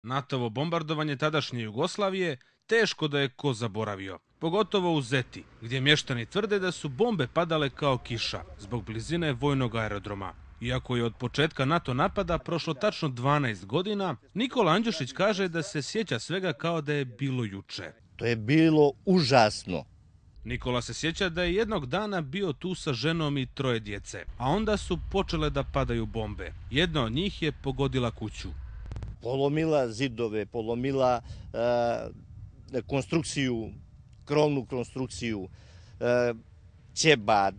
NATO-ovo bombardovanje tadašnje Jugoslavije teško da je ko zaboravio. Pogotovo u Zeti, gdje mještani tvrde da su bombe padale kao kiša zbog blizine vojnog aerodroma. Iako je od početka NATO napada prošlo tačno 12 godina, Nikola Andjušić kaže da se sjeća svega kao da je bilo juče. To je bilo užasno. Nikola se sjeća da je jednog dana bio tu sa ženom i 3 djece, a onda su počele da padaju bombe. Jedna od njih je pogodila kuću. Polomila zidove, polomila konstrukciju, krovnu konstrukciju, ćebad,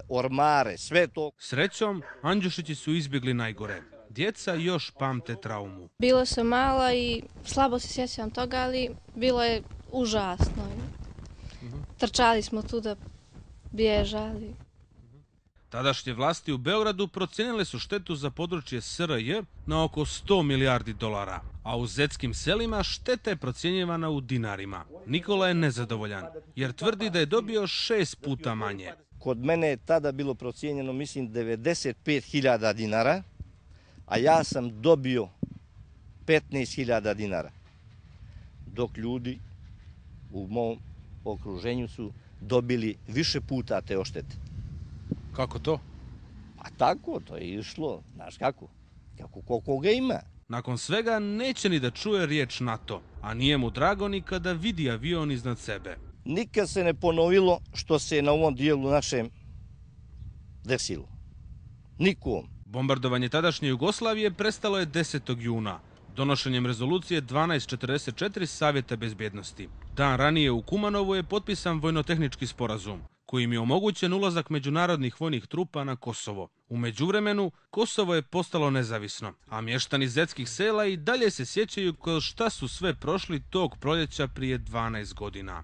ormare, sve to. Srećom, Andjušići su izbjegli najgore. Djeca još pamte traumu. Bila sam mala i slabo se sjećam toga, ali bilo je užasno. Trčali smo tu da bježali. Tadašnje vlasti u Beogradu procijenile su štetu za područje SRJ na oko 100 milijardi dolara, a u zetskim selima šteta je procjenjivana u dinarima. Nikola je nezadovoljan, jer tvrdi da je dobio 6 puta manje. Kod mene je tada bilo procijenjeno, mislim, 95.000 dinara, a ja sam dobio 15.000 dinara, dok ljudi u mom okruženju su dobili više puta te oštete. Kako to? Pa tako, to je išlo, znaš kako koga ima. Nakon svega neće ni da čuje riječ NATO, a nije mu drago ni kada vidi avion iznad sebe. Nikad se ne ponovilo što se na ovom dijelu našem desilo. Nikom. Bombardovanje tadašnje Jugoslavije prestalo je 10. juna, donošenjem rezolucije 1244 Savjeta bezbjednosti. Dan ranije u Kumanovu je potpisan vojnotehnički sporazum, kojim je omogućen ulazak međunarodnih vojnih trupa na Kosovo. U međuvremenu, Kosovo je postalo nezavisno, a mještani zetskih sela i dalje se sjećaju kroz šta su sve prošli tog proljeća prije 12 godina.